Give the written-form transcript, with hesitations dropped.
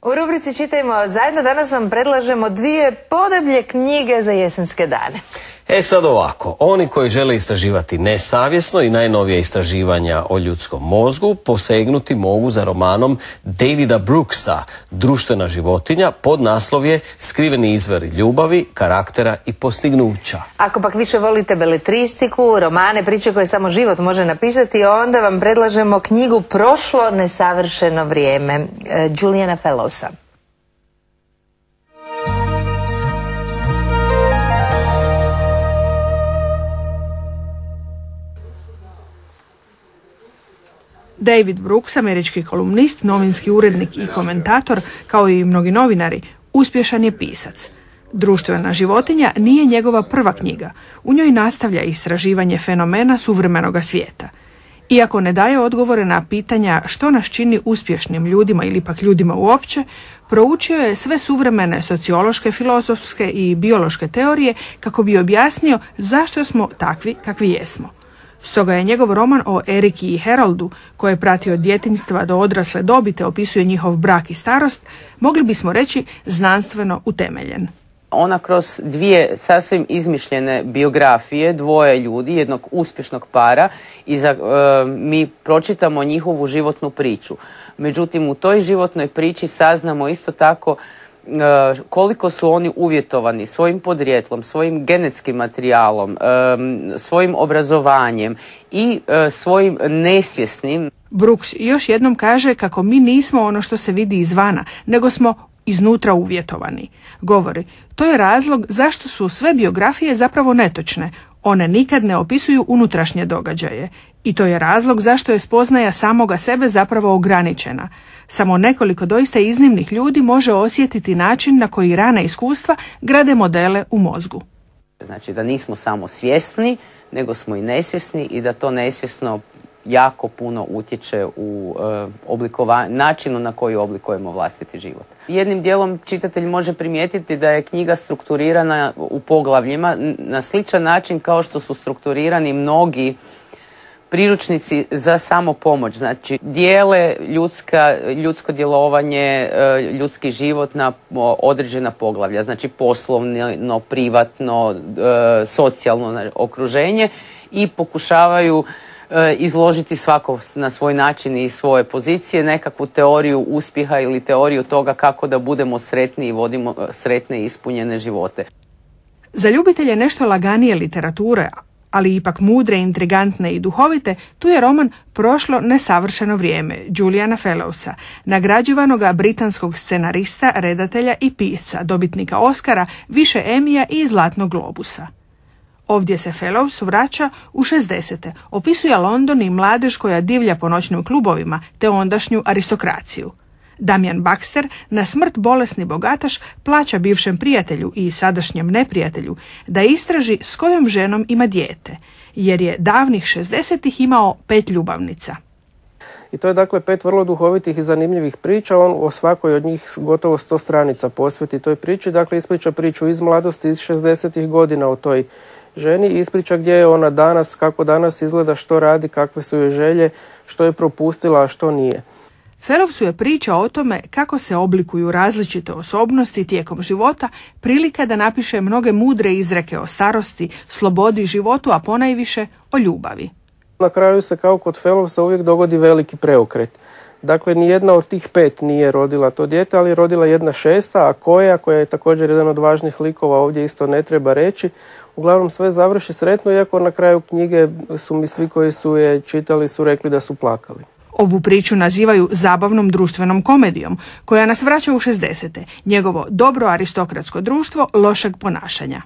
U rubrici Čitajmo zajedno danas vam predlažemo dvije podeblje knjige za jesenske dane. Sad ovako, oni koji žele istraživati nesavjesno i najnovije istraživanja o ljudskom mozgu posegnuti mogu za romanom Davida Brooksa Društvena životinja, pod naslov je Skriveni izvori ljubavi, karaktera i postignuća. Ako pak više volite beletristiku, romane, priče koje samo život može napisati, onda vam predlažemo knjigu Prošlo nesavršeno vrijeme Juliana Fellowsa. David Brooks, američki kolumnist, novinski urednik i komentator, kao i mnogi novinari, uspješan je pisac. Društvena životinja nije njegova prva knjiga. U njoj nastavlja istraživanje fenomena suvremenoga svijeta. Iako ne daje odgovore na pitanja što nas čini uspješnim ljudima ili pak ljudima uopće, proučio je sve suvremene sociološke, filozofske i biološke teorije kako bi objasnio zašto smo takvi kakvi jesmo. Stoga je njegov roman o Eriki i Haroldu, koje je pratio od djetinjstva do odrasle dobi te opisuje njihov brak i starost, mogli bismo reći znanstveno utemeljen. Ona kroz dvije sasvim izmišljene biografije, dvoje ljudi, jednog uspješnog para, i mi pročitamo njihovu životnu priču. Međutim, u toj životnoj priči saznamo isto tako koliko su oni uvjetovani svojim podrijetlom, svojim genetskim materijalom, svojim obrazovanjem i svojim nesvjesnim. Brooks još jednom kaže kako mi nismo ono što se vidi izvana, nego smo iznutra uvjetovani. Govori, to je razlog zašto su sve biografije zapravo netočne. One nikad ne opisuju unutrašnje događaje. I to je razlog zašto je spoznaja samoga sebe zapravo ograničena. Samo nekoliko doista iznimnih ljudi može osjetiti način na koji rana iskustva grade modele u mozgu. Znači da nismo samo svjesni, nego smo i nesvjesni i da to nesvjesno jako puno utječe u načinu na koji oblikujemo vlastiti život. Jednim dijelom čitatelj može primijetiti da je knjiga strukturirana u poglavljima na sličan način kao što su strukturirani mnogi priručnici za samopomoć. Znači, dijele ljudsko djelovanje, ljudski život na određena poglavlja. Znači, poslovno, privatno, socijalno okruženje i pokušavaju izložiti svako na svoj način i svoje pozicije, nekakvu teoriju uspjeha ili teoriju toga kako da budemo sretni i vodimo sretne i ispunjene živote. Za ljubitelje nešto laganije literature, ali ipak mudre, intrigantne i duhovite, tu je roman Prošlo nesavršeno vrijeme Juliana Fellowsa, nagrađivanoga britanskog scenarista, redatelja i pisca, dobitnika Oscara, više Emija i Zlatnog globusa. Ovdje se Fellows vraća u 60. Opisuje London i mladež koja divlja po noćnim klubovima, te ondašnju aristokraciju. Damian Baxter, na smrt bolesni bogataš, plaća bivšem prijatelju i sadašnjem neprijatelju da istraži s kojom ženom ima dijete, jer je davnih 60-ih imao 5 ljubavnica. I to je dakle 5 vrlo duhovitih i zanimljivih priča. On o svakoj od njih gotovo 100 stranica posveti toj priči. Dakle, ispriča priču iz mladosti, iz 60-ih godina o toj ženi, ispriča gdje je ona danas, kako danas izgleda, što radi, kakve su joj želje, što je propustila, a što nije. Fellowsu je priča o tome kako se oblikuju različite osobnosti tijekom života prilika da napiše mnoge mudre izreke o starosti, slobodi, životu, a ponajviše o ljubavi. Na kraju se kao kod Fellowsa uvijek dogodi veliki preokret. Dakle, nijedna od tih 5 nije rodila to dijete, ali je rodila jedna 6, a koja je također jedan od važnih likova, ovdje isto ne treba reći. Uglavnom sve završi sretno, iako na kraju knjige su mi svi koji su je čitali su rekli da su plakali. Ovu priču nazivaju zabavnom društvenom komedijom, koja nas vraća u 60. Njegovo dobro aristokratsko društvo lošeg ponašanja.